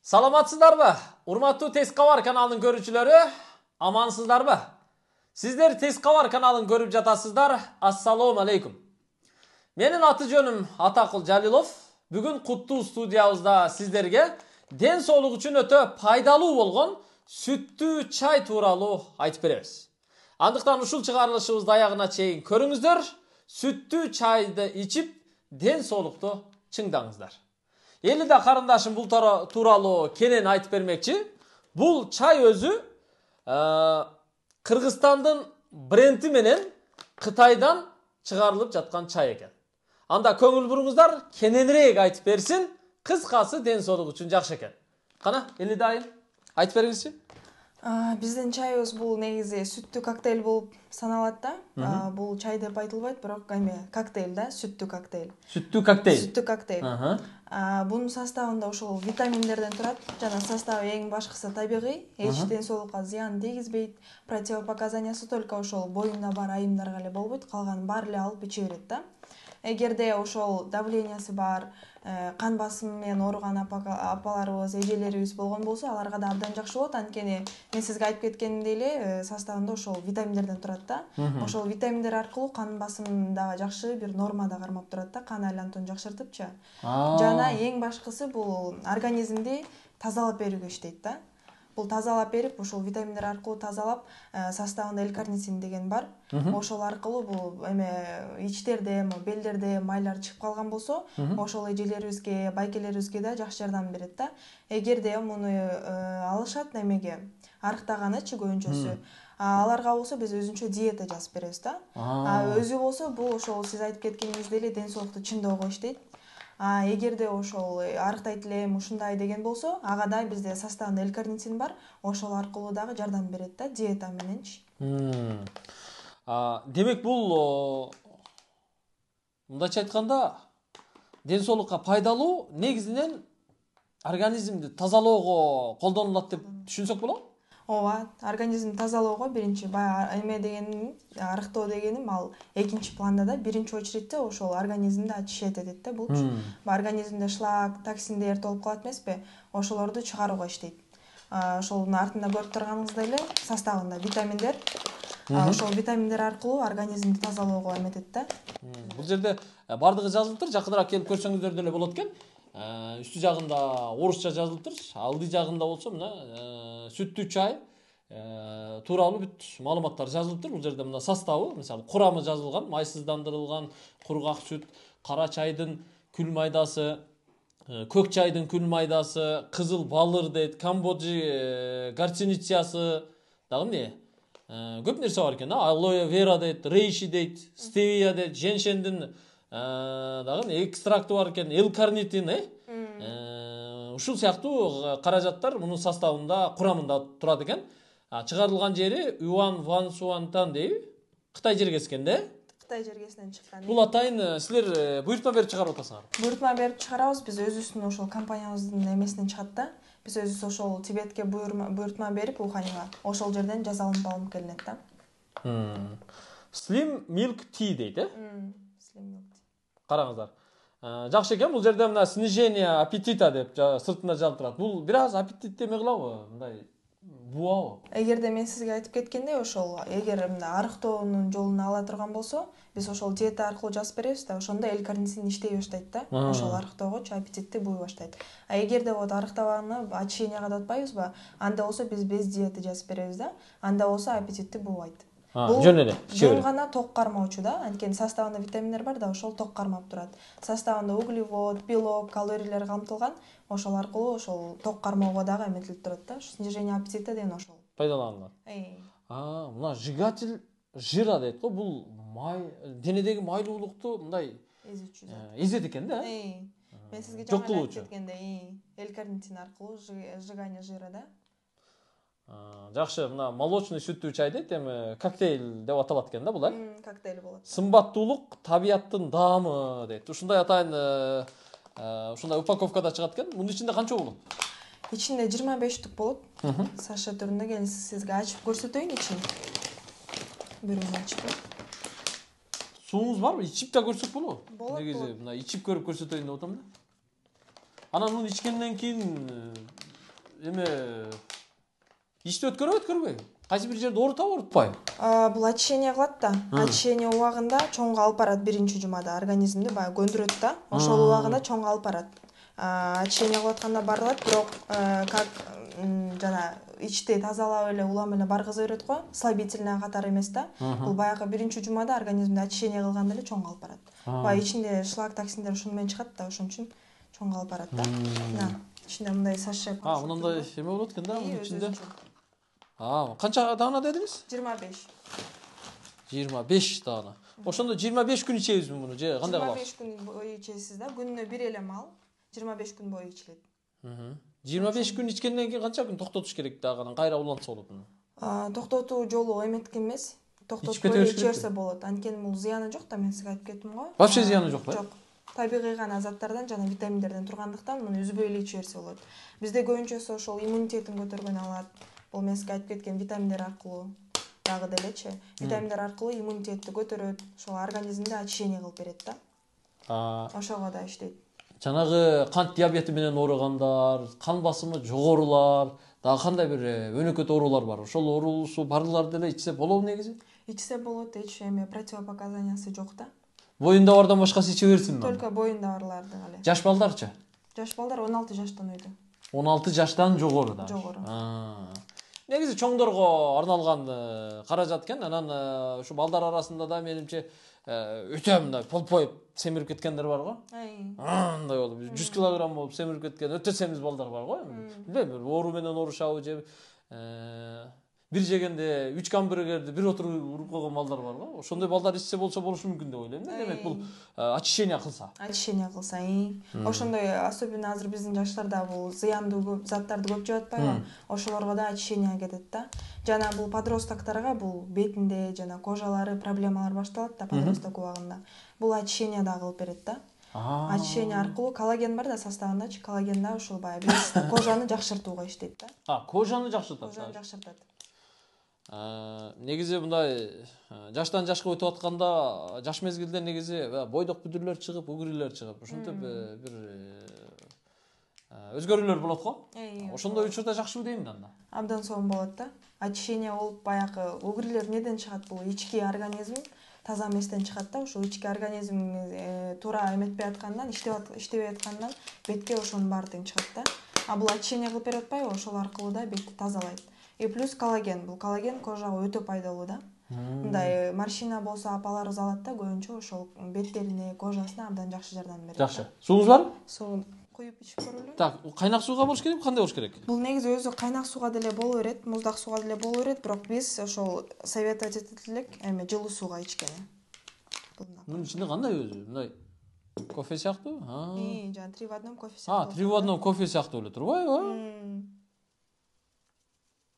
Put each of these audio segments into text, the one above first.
Саламатсыздарбы? Урматтуу Тез Кабар каналынын көрүүчүлөрү, амансыздарбы? Сиздер Тез Кабар каналын көрүп жатасыздар. Ассалому алейкум. Менин аты жөнүм Атакул Жалилов. Бүгүн куттуу студиябызда сиздерге ден соолук үчүн өтө пайдалуу болгон сүттүү чай тууралуу айтып беребиз. Андыктан ушул чыгарылышыбызды аягына чейин көрүңүздөр. Сүттүү чайды ичип, ден соолукту чыңдаңыздар. Эли да карындашым бул тууралуу кенен айтып бермекчи. Бул чай өзү Кыргызстандын бренди менен Кытайдан чыгарылып жаткан чай экен. Анда көңүл буруңуздар, кененирээк айтып берсин. Кыскасы ден соолук үчүн жакшы экен. Кана, Эли дайым айтып бериңизчи. Биздин чайыбыз бул негизи сүттүү коктейль болуп саналат да. Бул чай деп айтылбайт, бирок эме коктейль да, сүттүү коктейль. Сүттүү коктейль. Сүттүү коктейль. Бунун составында ошол витаминдерден турат. Жана составы эң башкысы табигый, эч ден соолукка зыян тийгизбейт. Противопоказаниясы только ошол боюнда бар айымдарга эле болбойт, калганын баары эле алып иче берет да. Эгерде ошол давлениясы бар, кан басымы менен ооруган апаларыбыз, эжелерибиз болгон болсо, аларга да абдан жакшы болот. Анткени мен сизге айтып кеткендей эле, составында ошол витаминдерден турат да. Ошол витаминдер аркылуу кан басымын дагы жакшы бир нормада кармап турат да, кан айлантууну жакшыртыпчы. Жана эң башкысы бул организмди тазалап берүүгө иштейт да. Бул тазалап берип, ошол витаминдер аркылуу тазалап, составында L-карнитин деген бар. Ошол аркылуу бул эме ичтерде, белдерде майлар чыгып калган болсо, ошол эжелерибизге, байкелерибизге да жакшы жардам берет да. Эгерде муну алышат немеге, арыктаганычы көбүнчөсү, аларга болсо биз өзүнчө диета жазып беребиз да. Өзү болсо бул ошол сиз айтып кеткениңиздей эле ден соолукту чыңдоого иштейт. Эгерде ошол арыктайт элем, ушундай деген болсо, ага да бизде составында L-карнитин бар, ошол аркылуу дагы жардам берет да, диета мененчи. Демек бул мындайча айтканда ден соолукка пайдалуу, негизинен организмди тазалоого колдонулат деп түшүнсөк болобу? Ооба, организмди тазалоого биринчи баягы эме дегеним, арыктоо дегеним ал экинчи планда да, биринчи очередте ошол организмди очищать этет да булчу. Организмде шлак, токсиндер толуп калат эмеспи? Ошолорду чыгарууга иштейт. Ошолдун артында көрүп турганыңыздай эле составында витаминдер. Ошол витаминдер аркылуу организмди тазалоого эметет да. Бул жерде бардыгы жазылыптыр, жакыныраак келип көрсөңүздөр деле болот экен. Үстү жагында орусча жазылыптыр, алды жагында болсо мына сүттүү чай тууралуу бүт маалыматтар жазылыптыр. Бул жерде мына составы, мисалы, курамы жазылган, майсыздандырылган кургак сүт, кара чайдын күл майдасы, көк чайдын күл майдасы, кызыл балыр дейт, камбоджи горчинициясы, дагы эмне? Көп нерсе бар экен, алоэ вера дейт, рейши дейт, стевия дейт, женьшендин дагы экстракты бар экен, L-карнитин, ушул сыяктуу каражаттар мунун составында, курамында турат экен. Чыгарылган жери Юан Ван Суантан дейби? Кытай жергесинен да? Кытай жергесинен чыккан. Бул атайын силер буйртма берип чыгарып атасыңар? Буйртма берип чыгарабыз, биз өзүбүздүн ошол компаниябыздын эмесинен чыгат да. Биз өзүбүз ошол Тибетке буйртма берип, Уханьга, ошол жерден жазалынып алып келинет да. Slim Milk Tea дейт, Slim Milk Tea. Караңыздар. Жакшы экен, бул жерде мына снижение аппетита деп сыртында жазылып турат. Бул бир аз аппетитти эме кылабы? Мындай буабы? Эгерде мен сизге айтып кеткендей, ошол эгер мына арыктоонун жолун ала турган болсо, биз ошол диета аркылуу жазып беребиз да, ошондо L-карнитин иштей баштайт да. Ошол арыктоогочу аппетитти буй баштайт. Эгерде вот арыктабаганы очищенияга да атпайбызбы? Анда болсо биз без диеты жазып беребиз да. Анда болсо аппетитти буубайт. Жөн эле. Жөн гана ток кармоочу да, анткени составында витаминдер бар да, ошол ток кармап турат. Составында углевод, белок, калориялар камтылган, ошол аркылуу ошол ток кармоого дагы эметилип турат да. Снижение аппетита деген ошол. Пайдаланылат. Мына сжигатель жира дейт го, бул денедеги майлуулукту мындай эзүүчү да. Эзет экен да? Мен сизге жана айтып кеткендей, L-карнитин аркылуу сжигание жира да. Жакшы, мына молочный сүттүү чай дейт, эми коктейль деп аталат экен да бул, коктейль болот. Сымбаттуулук табияттын даамы дейт. Ушундай атайын ушундай упаковкада чыгат экен. Мунун ичинде канча болот? Ичинде 25 түк болот. Саша түрүндө, келин сизге ачып көрсөтөйүн ичин. Бирөөнү ачып. Сууңуз барбы? Ичип да көрсөк болобу? Болот. Негизи мына ичип көрүп көрсөтөйүн деп атам да. Анан муну ичкенден кийин эме ишти өткөрбөйбү? Кайсы бир жерде оорутабы, оорутпайбы? Бул очищение кылат да. Очищение убагында чоңго алып барат биринчи жумада, организмди баягы көндүрөт да. Ошол убагында чоңго алып барат. Очищение кылып атканда барылат, бирок как жана ичти тазалап эле улам эле баргыза берет го, слабительный катары эмес да. Бул баягы биринчи жумада организмди очищение кылганда эле чоңго алып барат. Баягы ичинде шлак токсиндер ушуну менен чыгат да, ошон үчүн чоңго алып барат да. Мына ичинде мындай саше. Мындай эме болот экен да, мунун ичинде. Канча даана дедиңиз? 25. 25 даана. Ошондо 25 күн ичебизби муну же кандай кылабыз? 25 күн бою ичесиз да, күнүнө бир эле мал 25 күн бою ичилет. 25 күн ичкенден кийин канча күн токтотуш керек дагы, анан кайра улантса болот муну? Токтотуу жолу эметкен эмес. Токтотуп эле ичерсе болот. Анткени бул зыяны жок да, мен сизге айтып кеттим го. Вообще зыяны жок, Жок. Табигый гана заттардан жана витаминдерден тургандыктан муну үзбөй эле иче берсе болот. Бизде көбүнчөсү ошол иммунитетин көтөргөнү алат. Бул мен сизге айтып кеткен витаминдер аркылуу дагы делечи. Витаминдер аркылуу иммунитетти көтөрөт, ошол организмди очищение кылып берет да. Ошого да иштейт. Жанагы кант диабети менен ооругандар, кан басымы жогорулар, дагы кандай бир өнөкөт оорулар бар. Ошол оорусу барлар деле ичсе болобу негизи? Ичсе болот, эч эме противопоказаниясы жок да. Боюнда бардан башкасы иче берсинби? Только боюнда барларды эле. Жаш балдарчы? Жаш балдар 16 жаштан өйдө. 16 жаштан жогору да. Жогору. Негизи чоңдорго арналган каражат экен. Анан ушу балдар арасында да менимче өтө мындай полпоюп семирип кеткендер бар го. Мындай болуп 100 килограмм болуп семирип кеткен өтө семиз балдар бар го. Билбейм, оору менен оорушабы же бир жегенде 3 гамбургерди бир уруп койгон балдар бар го. Ошондой балдар ичсе болсо болушу мүмкүн деп ойлойм. Демек бул очищение кылса. Очищение кылса, ошондой особенно азыр биздин жаштарда бул зыяндуу заттарды көп жеп атпайбы? Ошолорго да очищение кетет да. Жана бул подростокторго бул бетинде жана кожалары проблемалар башталат да подросток убагында. Бул очищение да кылып берет да. Очищение аркылуу коллаген бар да составындачы, коллаген да ошол баягы кожаны жакшыртууга иштейт да. Кожаны жакшыртат. Кожаны жакшыртат. Негизи мындай жаштан жашка өтүп атканда жаш мезгилде негизи бойдок бүдүрлөр чыгып, угрилер чыгып, ушинтип бир өзгөрүүлөр болот го. Ошондой учурда жакшыбы дейм да анда. Абдан сонун болот да. Очищение болуп баягы угрилер неден чыгат? Бул ички организм таза эместен чыгат да. Ошол ички организм туура эметпей аткандан, иштебей аткандан бетке ошонун баары тең чыгат да. Бул очищение кылып берип атпайбы? Ошол аркылуу да бетти тазалайт. И плюс коллаген. Бул коллаген кожага өтө пайдалуу да. Мындай морщина болсо апаларыбыз алат да, көбүнчө ошол беттерине, кожасына абдан жакшы жардам берет. Жакшы. Сууңуз барбы? Суу куюп ичип көрөлү. Так, кайнак сууга болуш керек, кандай болуш керек? Бул негизи өзү кайнак сууга деле боло берет, муздак сууга деле боло берет, бирок биз ошол советовать этет элек эме жылуу сууга ичкени. Мунун ичинде кандай өзү? Мындай кофе сыяктуу? Жана 3 в 1 кофе сыяктуу. 3 в 1 кофе сыяктуу эле турбайбы?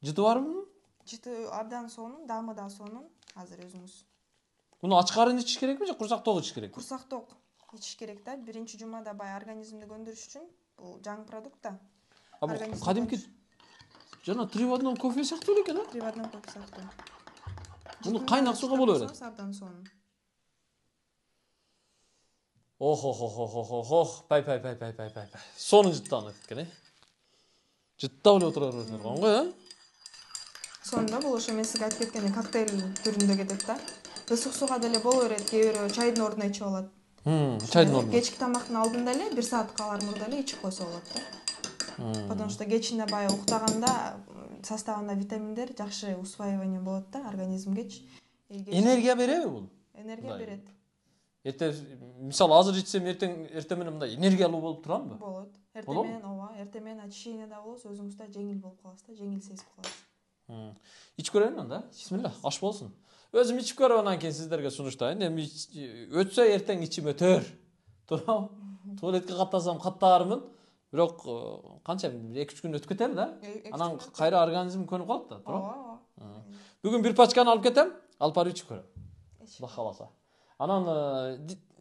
Жыты барбы? Жыты абдан сонун, даамы да сонун. Азыр өзүңүз. Муну ачкарын ичиш керекпи же курсак ток ичиш керек? Курсак ток ичиш керек да. Биринчи жумада баягы организмди көндүрүш үчүн бул жаңы продукт да. Кадимки жана 3 в 1 кофе сыяктуу эле экен, 3 в 1 кофе сыяктуу. Муну кайнак сууга боло берет. Абдан сонун. Пай. Сонун жыттанып кеткен, жыттап эле отура бересиңер го, Сонун да, бул ошо мен сизге айтып кеткендей коктейль түрүндө кетет да. Ысык сууга деле боло берет, кээ бирөө чайдын ордуна ичип алат. Чайдын ордуна. Кечки тамактын алдында эле 1 саат калар мурда эле ичип койсо болот да. Потому что кечинде баягы уктаганда составында витаминдер жакшы усваивание болот да организмгечи. Энергия береби бул? Энергия берет. Мисалы азыр ичсем эртең менен мындай энергиялуу болуп турамбы? Болот. Эртең менен ооба, эртең менен очищение да болосуз, өзүңүз да жеңил болуп каласыз да, жеңил сезип каласыз. Ичип көрөйүн анда. Бисмилла, аш болсун. Өзүм ичип көрөп анан кийин сиздерге сунуштайын. Эми өтсө эртең ичим өтөр. Туурабы? Туалетке каттасам каттаармын. Бирок канча 2-3 күн өтүп кетер да. Анан кайра организм көнүп калат да, туурабы? Бүгүн бир пачканы алып кетем, алып барып ичип көрөм. Кудай кааласа. Анан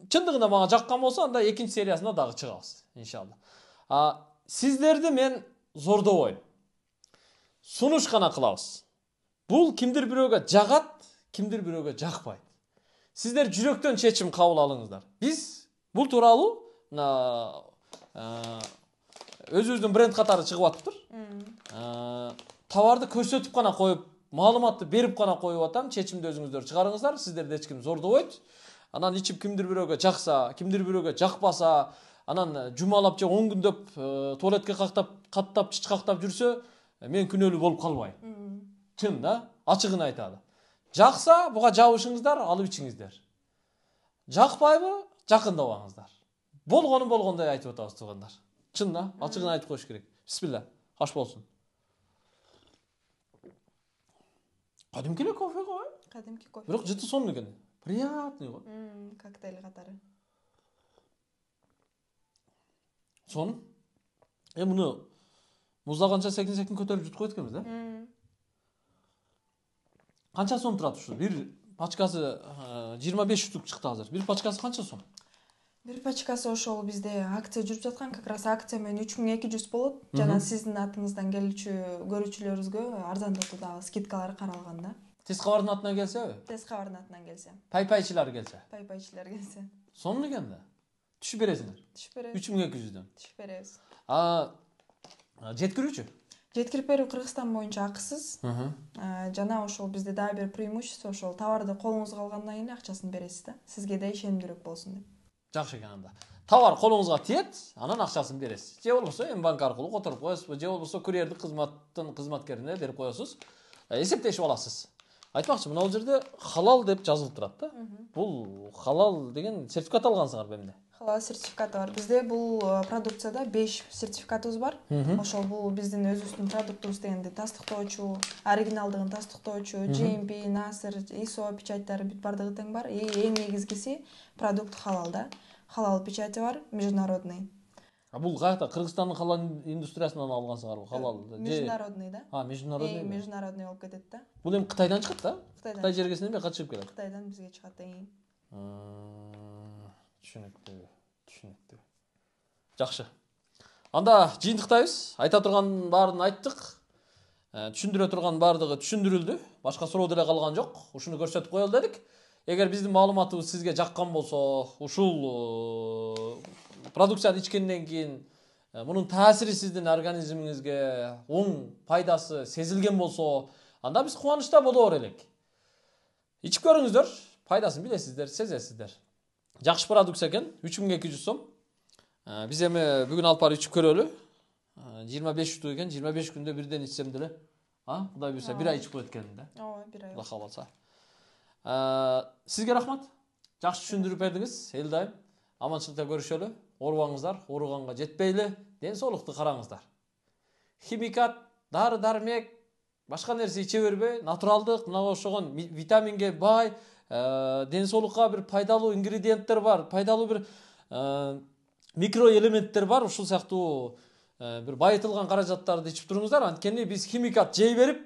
чындыгында мага жаккан болсо, анда экинчи сериясына дагы чыгабыз, иншалла. Сиздерди мен зордобойм. Сунуш гана кылабыз. Бул кимдир бирөөгө жагат, кимдир бирөөгө жакпайт. Сиздер жүрөктөн чечим кабыл алыңыздар. Биз бул тууралуу өзүбүздүн бренд катары чыгып атыптыр. товарды көрсөтүп гана коюп, маалыматты берип гана коюп атам, чечимди өзүңүздөр чыгарыңыздар, сиздерди эч ким зордобойт. Анан ичип кимдир бирөөгө жакса, кимдир бирөөгө жакпаса, анан жумалап же 10 күндөп туалетке каттап чычкактап жүрсө, мен күнөөлүү болуп калбайм. Чын да, ачыгын айталы. Жакса, буга жабышыңыздар, алып ичиңиздер. Жакпайбы, жакындабаңыздар. Болгону болгондой айтып атабыз туугандар. Чын да, ачыгын айтып коюш керек. Бисмилла, аш болсун. Кадимки эле кофе го? Кадимки кофе. Бирок жыты сонун экен. Приятный го. Коктейль катары. Сонун. Муну муздаганча секин көтөрүп жутуп койт экенбиз, да? Канча сом турат ушу? Бир пачкасы 25 штук чыкты азыр. Бир пачкасы канча сом? Бир пачкасы ошол бизде акция жүрүп жаткан, как раз акция менен 3200 болот. Жана сиздин атыңыздан келүүчү көрүүчүлөрүбүзгө арзандатуу дагы скидкалар каралган да. Тез кабардын атынан келсеби? Тез кабардын атынан келсе. Пай-пайчылар келсе. Пай-пайчылар келсе. Сонун экен да. Түшүп бересиңер. Түшүп беребиз. 3200дөн. Түшүп беребиз. Жеткирүүчү? Жеткирип берүү Кыргызстан боюнча акысыз. Жана ошол бизде дагы бир преимущество, ошол товарды колуңузга алгандан кийин акчасын бересиз да. Сизге да ишенимдүүрөөк болсун деп. Жакшы экен анда. Товар колуңузга тиет, анан акчасын бересиз. Же болбосо М-банк аркылуу которуп коесузбу, же болбосо курьердик кызматкерине берип коесуз. Эсептешип аласыз. Айтмакчы, мына бул жерде халал деп жазылып турат да. Бул халал деген сертификат алгансыңар бемде? Халал сертификаты бар. Бизде бул продукцияда 5 сертификатыбыз бар. Ошол бул биздин өзүбүздүн продуктубуз дегенди тастыктоочу, оригиналдыгын тастыктоочу, GMP, Насыр, ISO печаттары бүт бардыгы тең бар. Эң негизгиси продукт халал да. Халал печати бар, международный. Бул каякта Кыргызстандын халал индустриясынан алгансыңарбы? Халал. Международный да. Международный. Международный болуп кетет да. Бул эми Кытайдан чыгат да? Кытай жергесинен эмне качып келет? Кытайдан бизге чыгат эң. Түшүнүктүү. Жакшы. Анда жыйынтыктайбыз. Айта турган баарын айттык. Түшүндүрө турган баардыгы түшүндүрүлдү. Башка суроо деле калган жок. Ушуну көрсөтүп коелу дедик. Эгер биздин маалыматыбыз сизге жаккан болсо, ушул продукцияны ичкенден кийин мунун таасири сиздин организмиңизге оң пайдасы сезилген болсо, анда биз кубанычта боло берелик. Ичип көрүңүздөр, пайдасын билесиздер, сезесиздер. Жакшы продукция экен, 3200 сом. Биз эми бүгүн алып барып ичип көрөлү. 25 штук экен, 25 күндө бирден ичсем деле, Кудай буйрса бир ай ичип коет экенмин да. Ооба, бир ай. Алла кааласа. Сизге рахмат. Жакшы түшүндүрүп бердиңиз. Эл дайым аманчылыкта көрүшөлү. Оорубаңыздар, ооруганга жетпейли, ден соолукту караңыздар. Химикат, дары-дармек, башка нерсе иче бербей, натуралдык, мына ошогон витаминге бай, ден соолукка бир пайдалуу ингредиенттер бар, пайдалуу бир микроэлементтер бар, ушул сыяктуу бир байытылган каражаттарды ичип туруңуздар. Анткени биз химикат жей берип,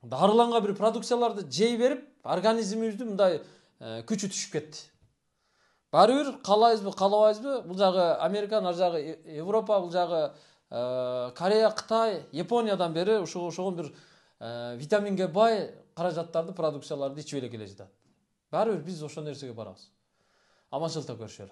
дарыланган бир продукцияларды жей берип, организмибизди мындай күчү түшүп кетти. Баары бир каалайбызбы, каалабайбызбы, бул жагы Америка, ар жагы Европа, бул жагы Корея, Кытай, Япониядан бери ошогон бир витаминге бай каражаттарды, продукцияларды ичип эле келе жатат. Баары бир биз ошол нерсеге барабыз. Аманчылыкта көрүшөлү.